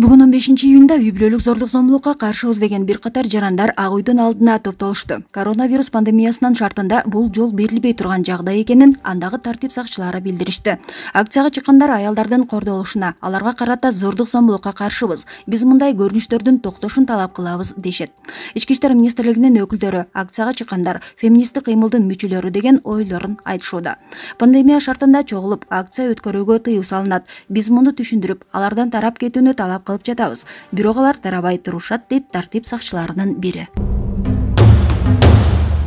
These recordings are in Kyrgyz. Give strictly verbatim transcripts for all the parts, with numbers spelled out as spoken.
Бүгүн он бешинчи июнда үй бүлөлүк зордук зомбулукка каршыбыз деген бир катар жарандар ак үйдүн алдына топтолушту. Коронавирус пандемиясынын шартында бул жол берилбей турган жагдай экенин андагы тартип сакчылары билдиришти. Акцияга чыккандар аялдардын кордолушуна, аларга карата зордук зомбулукка каршыбыз, биз мындай көрүнүштөрдүн токтошун талап кылабыз дешет. Ички иштер министрлигинин өкүлдөрү акцияга чыккандар феминисттик кыймылдын мүчөлөрү деген ойлорун айтышууда. Пандемия шартында чогулуп акция өткөрүүгө тыюу салынат. Биз муну түшүндүрүп, алардан тарап кетүүнү талап кылып жатабыз. Бирок алар тарабай турушат, дейт тартип сакчыларынын бири.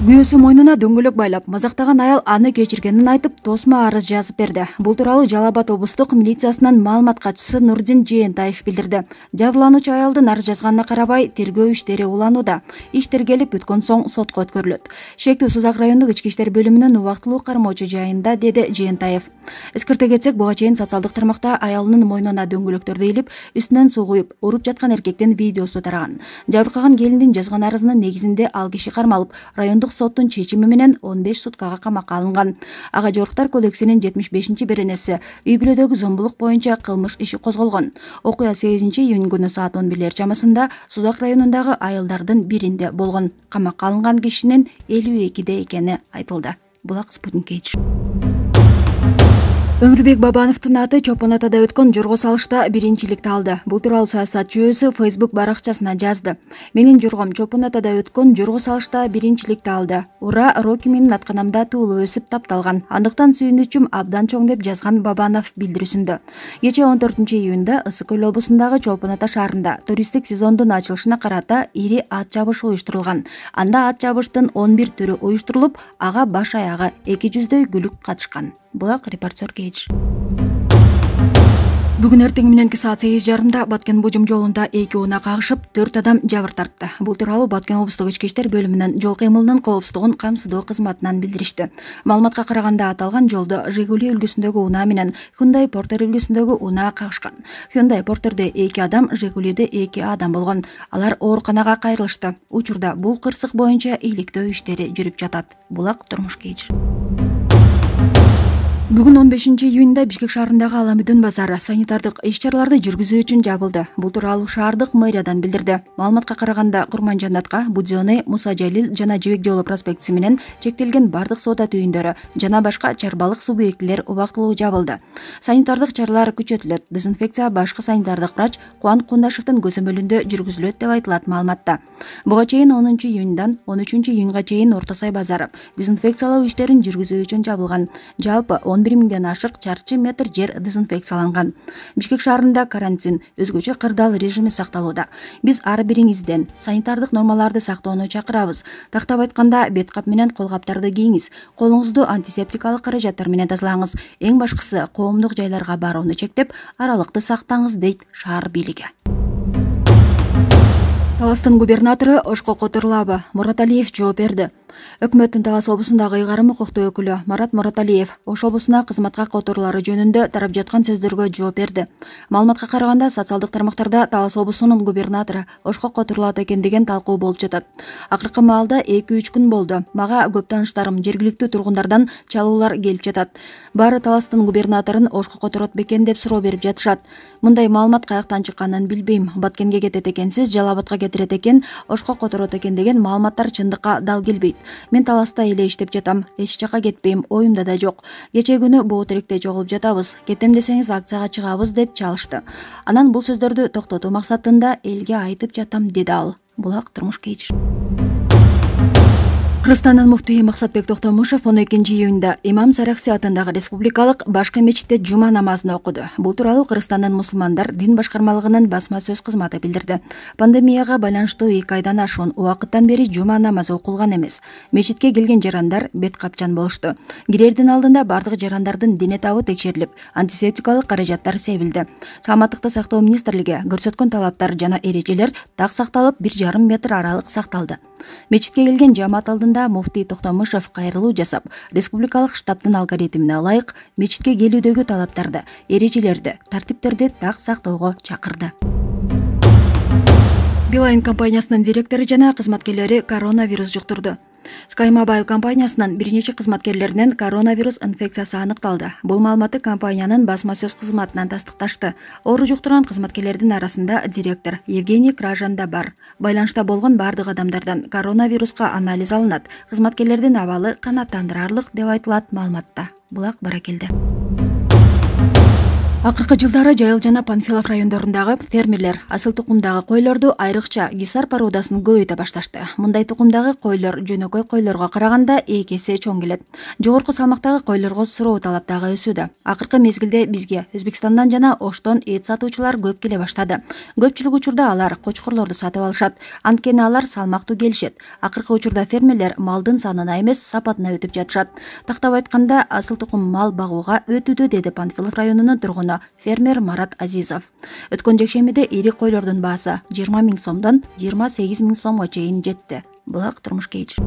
Күйөөсү мойнуна дөңгөлөк байлап мазактаган аял аны кечиргенин айтып, тосмо арыз жазып берди. Бул тууралуу Жалал Абад облустук милициясынын маалымат катчысы Нурдин Жээнтаев билдирди. Жабырлануучу аялдын арыз жазганына карабай, тергөө иштери уланууда. Иш тергелип бүткөн соң сотко өткөрүлөт. Шектүү Сузак райондук ички иштер бөлүмүнүн убактылуу кармоочу жайында, деди Жээнтаев. Эскерте кетсек, буга чейин социалдык тармакта аялынын мойнуна дөңгөлөктөрдү илип, үстүнөн суу куюп, уруп жаткан эркектин видеосу тараган. Жабыркаган келиндин жазган арызынын негизинде ал киши кармалып, райондук соттун чечими менен он беш суткага камакка алынган. Ага жоруктар кодексинин жетимиш бешинчи беренеси үй бүлөдөгү зомбулук боюнча кылмыш иши козголгон. Окуя сегизинчи июнь күнү саат он бирлер чамасында Сузак районундагы айылдардын биринде болгон. Камакка алынган кишинин элүү экиде экени айтылды. Булак Спутник Эйч. Өмүрбек Бабановдун аты Чолпон Атада өткөн жорго салышта биринчиликти алды. Бул тууралуу саясатчы өзү Facebook баракчасына жазды. Менин жоргом Чолпон Атада өткөн жорго салышта биринчиликти алды. Ура, Роки менин атканамда туулуп өсүп тапталган. Андыктан сүйүнүчүм абдан чоң, деп жазган Бабанов билдирүүсүндө. Кечээ он төртүнчү июнда Ысык көл облусундагы Чолпон Ата шаарында туристтик сезондун ачылышына карата ири ат жабыш уюштурулган. Анда ат жабыштын он бир түрү уюштурулуп, ага баш аягы эки жүздөй күлүк катышкан. Булак Репортер Кейдж. Бүгүн эртең мененки саат сегиз жарымда Баткен Бужум жолунда эки унаа кагышып, төрт адам жабыр тартты. Бул тууралуу Баткен облустук ички иштер бөлүмүнүн жол кыймылынын коопсуздугун камсыздоо кызматынан билдиришти. Маалыматка караганда, аталган жолдо Жигули үлгүсүндөгү унаа менен Hyundai Porter үлгүсүндөгү унаа кагышкан. Hyundai Porterде эки адам, Жигулиде эки адам болгон. Алар ооруканага кайрылышты. Учурда бул кырсык боюнча иликтөө иштери жүрүп жатат. Булак Турмуш Кейдж. Бүгүн он бешинчи июнда Бишкек шаарындагы Аламүдүн базары санитардык иш-чараларды жүргүзүү үчүн жабылды. Бул тууралуу шаардык мэриядан билдирди. Маалыматка караганда, Курманжанатка, Будзёне, Муса Жалил жана Жибек жолу проспектиси менен чектелген бардык соода түйүндөрү жана башка чарбалык субъектилер убактылуу жабылды. Санитардык чаралар күчөтүлөт. Дезинфекция башкы санитардык врач Кубанык Кундашевдин көзөмөлүндө жүргүзүлөт, деп айтылат маалыматта. Буга чейин онунчу июндан он үчүнчү июнга чейин Орто Сай базары дезинфекциялоо иштерин жүргүзүү үчүн жабылган. Жалпы он бир миңден ашык чарчы метр жер дезинфекцияланган. Бишкек шаарында карантин, өзгөчө кырдаал режими сакталууда. Биз ар бириңизден санитардык нормаларды сактоону чакырабыз. Тактап айтканда, бет кап менен кол каптарды кийиңиз, колуңузду антисептикалык каражаттар менен тазалаңыз. Эң башкысы, коомдук жайларга барууну чектеп, аралыкты сактаңыз, дейт шаар бийлиги. Таластын губернатору Ошко Которулабы Мурат Алиев жооп берди. Өкмөттүн Талас облусундагы ыйгарым укуктуу өкүлү Марат Мураталиев Ош облусуна кызматка которуулары жөнүндө тарап жаткан сөздөргө жооп берди. Маалыматка караганда, социалдык тармактарда Талас облусунун губернатору Ошко которулат экен деген талкуу болуп жатат. Акыркы маалда эки үч күн болду. Мага көп тааныштарым, жергиликтүү тургундардан чалуулар келип жатат. Баары Таластын губернаторун Ошко которот бекен деп суроо берип жатышат. Мындай маалымат каяктан чыкканын билбейм. Баткенге кетет экенсиз, Жалал Абадка кетирет экен, Ошко которот экен деген маалыматтар чындыкка дал келбейт. Мен Таласта эле иштеп жатам, эч жака кетпейм, оюмда да жок. Кечээ күнү Боотеректе чогулуп жатабыз, кетем десеңиз акцияга чыгабыз, деп чалышты. Анан бул сөздөрдү токтотуу максатында элге айтып жатам, деди ал. Булак Турмуш Кейдж. Кыргызстандын муфтийи Максатбек Токтомушев он экинчи июнда Имам Саракси атындагы республикалык башкы мечитте жума намазын окуду. Бул тууралуу Кыргызстандын мусулмандар дин башкармалыгынын басма сөз кызматы билдирди. Пандемияга байланыштуу эки айдан ашуун убакыттан бери жума намазы окулган эмес. Мечитке келген жарандар бет капчан болушту. Кирердин алдында бардык жарандардын дене табы текшерилип, антисептикалык каражаттар себилди. Саламаттыкты сактоо министрлиги көрсөткөн талаптар жана эрежелер так сакталып, бир жарым метр аралык сакталды. Мечитке келген жамаат алдында муфтий Токтомушев кайрылуу жасап, республикалык штабтын алгоритмине ылайык мечитке келүүдөгү талаптарды, эрежелерди, тартиптерди так сактоого чакырды. Билайн компаниясынын директору жана кызматкерлери коронавирус жуктурду. Sky Mobile компаниясынын бир нече кызматкерлеринен коронавирус инфекциясы аныкталды. Бул маалыматты компаниянын басма сөз кызматынан тастыкташты. Оору жуктурган кызматкерлердин арасында директор Евгений Кражан да бар. Байланышта болгон бардык адамдардан коронавируска анализ алынат. Кызматкерлердин абалы канааттандырарлык деп айтылат маалыматта. Булак баракелди. Акыркы жылдары Жайыл жана Панфилов райондорундагы фермерлер асыл тукумдагы койлорду, айрыкча гисар породасын көбөйтө башташты. Мындай тукумдагы койлор жөнөкөй койлорго караганда эки эсе чоң келет. Жогорку салмактагы койлорго суроо талап дагы өсүүдө. Акыркы мезгилде бизге Өзбекстандан жана Оштон эт сатуучулар көп келе баштады. Көпчүлүк учурда алар кочкорлорду сатып алышат. Анткени алар салмактуу келишет. Акыркы учурда фермерлер малдын санына эмес, сапатына өтүп жатышат. Тактап айтканда, асыл тукум мал багууга өтүүдө, деди Панфилов районунун тургуну фермер Марат Азизов. Өткөн жекшембиде ири койлордун баасы жыйырма миң сомдон жыйырма сегиз миң сомго чейин жетти. Булак турмуш кейчи.